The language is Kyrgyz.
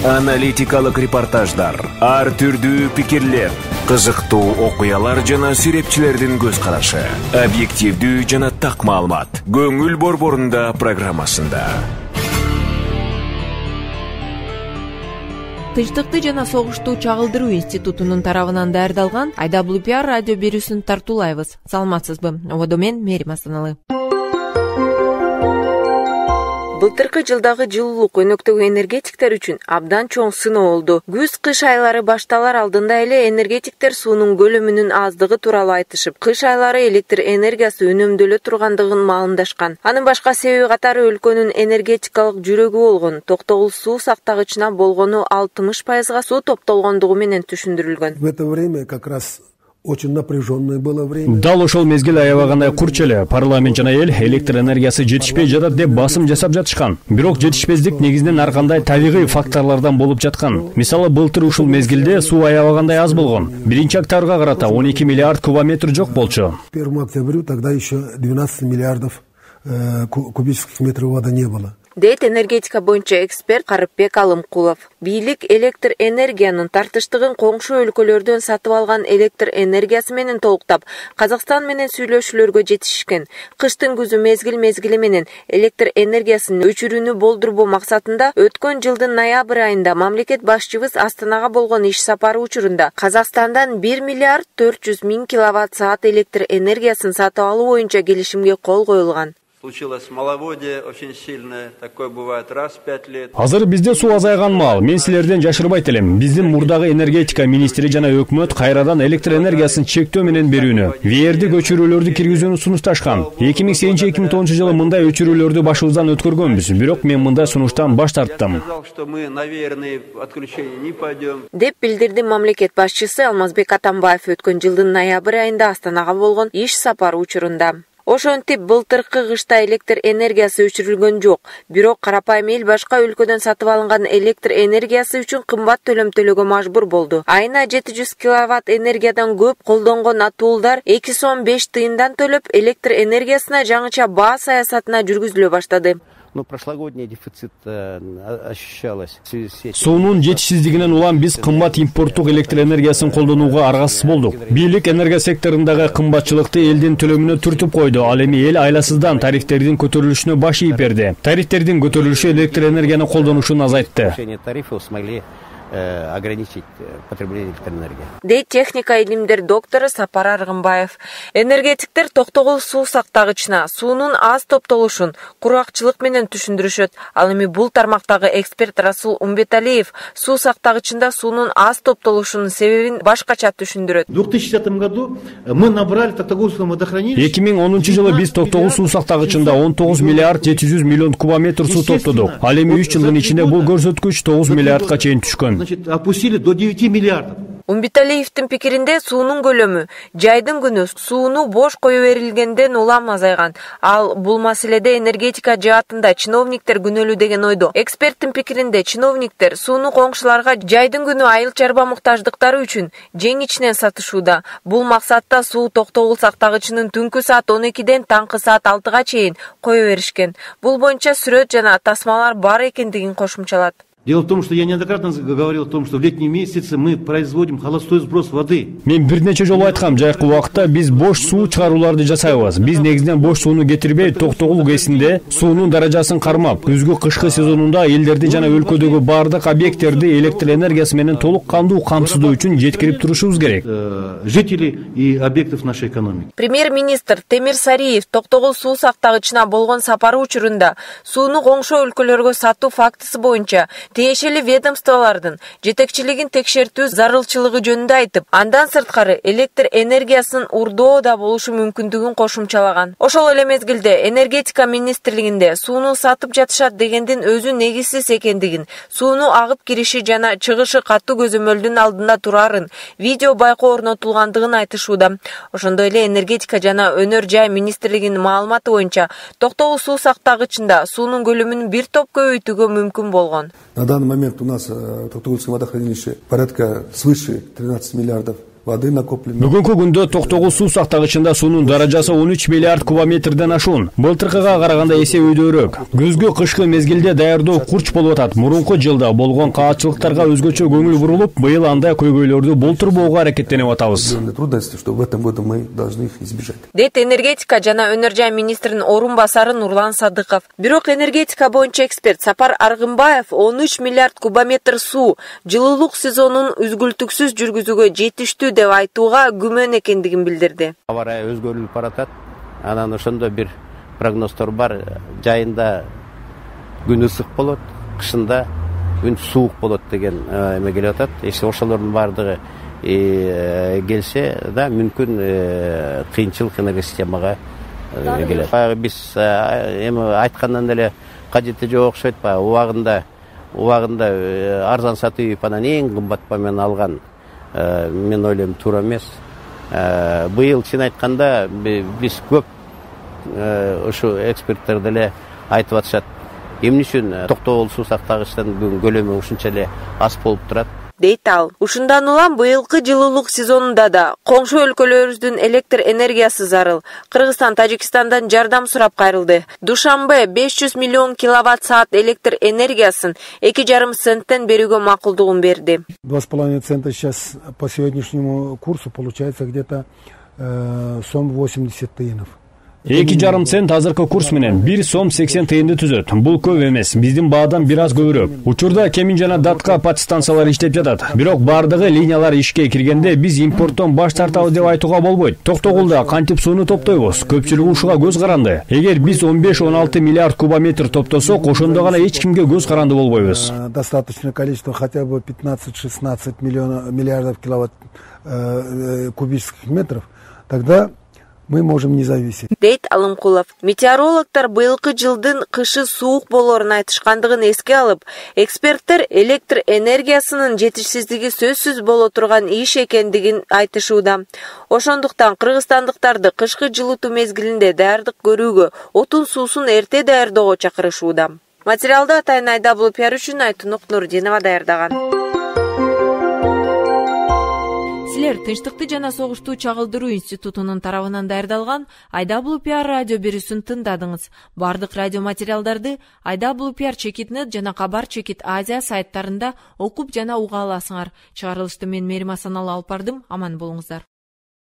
Аналитикалык репортаждар, ар түрдүү пикирлер, кызыктуу окуялар жана сүрөтчүлөрдүн көз карашы, объективдүү жана так маалымат. Көңүл борборунда программасында. Тынчтыкты жана согушту чагылдыруу институтунун тарабынан даярдалган IWPR радио берүүсүн тартуулайбыз. Саламатсызбы? Ободо мен Мерим Астаналы. Былтыркы жылдагы жылуулук өнөктөгү энергетиктер үчүн абдан чоң сыноо болду. Күз-кыш айлары башталар алдында эле энергетиктер суунун көлөмүнүн аздыгы тууралуу айтышып, кыш айлары электр энергиясы үнөмдөлө тургандыгын маалымдашкан. Анын башка себеби катары өлкөнүн энергетикалык жүрөгү болгон Токтогул суу сактагычына болгону 60% суу топтолгондугу менен түшүндүрүлгөн. В это время как раз очень напряженное было время. Дал ошол мезгил аябагандай курч эле. Парламент жана эл электр энергиясы жетишпей жатат деп басым жасап жатышкан. Бирок жетишпездик негизинен ар кандай табигый факторлордон болуп жаткан. Мисалы, былтыр ушул мезгилде суу аябагандай аз болгон. 1-октябрга карата 12 миллиард кубометр жок болчу. 1 октября тогда еще 12 миллиардов кубических метров воды не было. Дейт энергетика боюнча эксперт Карыпбек Алымкулов. Бийлик электр энергиянын тартыштыгын коңшу өлкөлөрдөн сатып алган электр энергиясы менен толуктап, Казакстан менен сүйлөшүүлөргө жетишкен. Кыштын күзү мезгили менен электр энергиясынын өчүрүүнү болдурбоо максатында өткөн жылдын ноябрь айында мамлекет башчыбыз Астанага болгон иш сапары учурунда Казакстандан 1 миллиард 400 миң киловатт-саат электр энергиясын сатып алуу боюнча келишимге кол коюлган. Случилось маловодие очень сильное, такое бывает раз в 5 лет. Азыр бизде суу азайган маал. Мен силерден жашырбайт элем. Биздин мурдагы энергетика министри жана өкмөт кайрадан электр энергиясын чектөө менен берүүнү, ВРди көчүрүүлөрдү киргизүүнү сунушташкан. 2008-2010 жылы мындай өчүрүүлөрдү башыбыздан өткөргөнбүз. Бирок мен мындай сунуштан баш тарттым. Деп билдирди мамлекет башчысы Алмазбек Атамбаев өткөн жылдын ноябрь айында Астанага болгон иш сапары учурунда. Ошентип былтыркы кышта электр энергиясы өчүрүлгөн жок. Бирок карапайым эл башка өлкөдөн сатып алынган электр энергиясы үчүн кымбат төлөм төлөөгө мажбур болду. Айына 700 киловатт энергиядан көп колдонгон атуулдар 2 сом 5 тыйындан төлөп электр энергиясына жаңыча баа саясатына жүргүзүлө баштады. Прошлогодний дефицит ощущалось. Суунун жетишсиздигинен улам биз кымбат импорттук электр энергиясын колдонууга аргасыз болдук. Бийлик энергия секторундагы кымбатчылыкты элдин төлөмүнө түртүп койду. Ал эми эл айласыздан тарифтердин көтөрүлүшүнө баш ийип берди. Тарифтердин көтөрүлүшү электр энергияны колдонушун азайтты. Тарифы смогли ограничить потребление электроэнергии. Дейт техника илимдер доктору Сапар Аргынбаев. Энергетиктер Токтогул суу сактагычына суунун аз топтолушун кургакчылык менен түшүндүрүшөт. Ал эми бул тармактагы эксперт Расул Умбеталиев суу сактагычында суунун аз топтолушунун себебин башкача түшүндүрөт. В 2010 году мы набрали Токтогулское водохранилище. 2010 жылы биз Токтогул суу сактагычында 19 миллиард 700 миллион кубометр суу топтодук. Ал эми 3 жылдын ичинде бул көрсөткүч 9 миллиардка чейин түшкөн. Значит, опустили до 9 миллиардов. Умбеталиевдин пикиринде суунун көлөмү жайдын күнү сууну бош кое берилгенден улам азайган. Ал бул маселеде энергетика жаатында чиновниктер күнөөлүү деген ойдо. Эксперттин пикиринде чиновниктер сууну коңшуларга жайдын күнү айыл чарба муктаждыктары үчүн жеңичинен сатышууда. Бул максатта суу Токтогул сактагычынын түнкү саат 12ден таңкы саат 6га чейин кое беришкен. Бул боюнча сүрөт жана тасмалар бар экендигин кошумчалат. Дело в том, что я неоднократно говорил о том, что в летние месяцы мы производим холостой сброс воды. Мен бир нече жолу айткам, жайкы убакытта биз бош суу чыгарууларды жасайбыз. Биз негизинен бош сууну кетирбей, Токтогул ГЭСинде суунун даражасын кармап, күзгү кышкы сезонунда элдерди жана өлкөдөгү бардык объекттерди электр энергиясы менен толук кандуу камсыздоо үчүн жеткирип турушубуз керек. Жителей и объектов нашей экономики. Премьер-министр Темир Сариев Токтогул суу сактагычына болгон сапары учурунда сууну коңшу өлкөлөргө сатуу фактысы боюнча тиешелүү ведомстволордун жетекчилигин текшертүү зарылчылыгы жөнүндө айтып, андан сырткары электр энергиясын урдоо да болушу мүмкүндүгүн кошумчалаган. Ошол эле мезгилде энергетика министрлигинде сууну сатып жатышат дегендин өзү негизсиз экендигин, сууну агып кириши жана чыгышы катуу көзөмөлдүн алдында турарын, видео байкоо орнотулгандыгын айтышууда. Ошондой эле энергетика жана өнөр жай министрлигинин маалыматы боюнча Токтогул суу сактагычында суунун көлөмүн бир топ көбөйтүүгө мүмкүн болгон. На данный момент у нас в Токтогульском водохранилище порядка свыше 13 миллиардов воды накоплено. Бүгүнкү күндө Токтогул суу сактагычында суунун даражасы 13 миллиард кубометрден ашуун. Былтыркыга караганда эсе өйдөрөөк. Күзгү кышкы мезгилде даярдоо курч болуп атат. Мурунку жылда болгон каатчылыктарга өзгөчө көңүл бурулуп, быйыл андай көйгөйлөрдү болтурбоого аракеттенип атабыз. Трудности, что в этом году мы должны их избежать. Дейт энергетика жана өнөр жай министринин орун басары Нурлан Садыков. Бирок энергетика боюнча эксперт Сапар Аргымбаев 13 миллиард кубометр суу жылуулук сезонун үзгүлтүксүз жүргүзүүгө жетиштүү деп айтууга күмөн экендигин билдирди. Аба ырайы өзгөрүлүп баратат. Анан ошондо бир прогноздор бар. Жайында күн ысык болот, кышында күн суук болот деген эме келип атат. Если ошолордун баардыгы келсе да мүмкүн кыйынчылык энергосистемага келет. Биз эми айткандан эле кажети жок окшойт. Убагында арзан сатып анан эң кымбат менен алган мен ойлойм туура эмес. Быйыл чын айтканда биз көп ушу эксперттер деле айтып атышат. Эмне үчүн Токтогул суу сактагычтын бүгүн көлөмү ушунча эле аз болуп турат? Дейт ал. Ушундан улам быйылкы жылуулук сезонунда да коңшу өлкөлөрүбүздүн электр энергиясы зарыл. Кыргызстан Тажикстандан жардам сурап кайрылды. Душанбе 500 миллион киловатт-саат электр энергиясын 2,5 центтен берүүгө макулдугун берди. 2,5 цента сейчас по сегодняшнему курсу получается где-то сом 80 тыйынов. 2,5 цент азыркы курс менен 1 сом 80 тыйынды түзөт. Бул көп эмес. Биздин баадан бир аз көбүрөөк. Учурда Кемин жана Датка подстанциялар иштеп жатат. Бирок бардыгы линиялар ишке киргенде биз импорттон баш тартабыз деп айтууга болбойт. Токтогулда кантип сууну топтойбуз? Көпчүлүк ушуга көз каранды. Эгер биз 15-16 миллиард кубометр топтосок, ошондо гана эч кимге көз каранды болбойбуз. Достаточное количество, хотя бы 15-16 миллиардов киловатт кубических метров, тогда мы можем не зависеть. Дейт Алымкулов. Метеорологтар быйылкы жылдын кышы суук болоорун айтышкандыгын эске алып, эксперттер электр энергиясынын жетишсиздиги сөзсүз боло турган иш экендигин айтышууда. Ошондуктан кыргызстандыктарды кышкы жылытуу мезгилинде даярдык көрүүгө, отун суусун эрте даярдоого чакырышууда. Материалды атайын IWPR үчүн Айтунук Нурдинова даярдаган. Силер Тынчтыкты жана согушту чагылдыруу институтунун тарабынан даярдалган IWPR радио берүүсүн тыңдадыңыз. Бардык радио материалдарды IWPR Чекитнет жана Кабар Чекит Азия сайттарында окуп жана уга аласыңар. Чыгарылышты мен Мерим Асаналы алып бардым. Аман болуңуздар.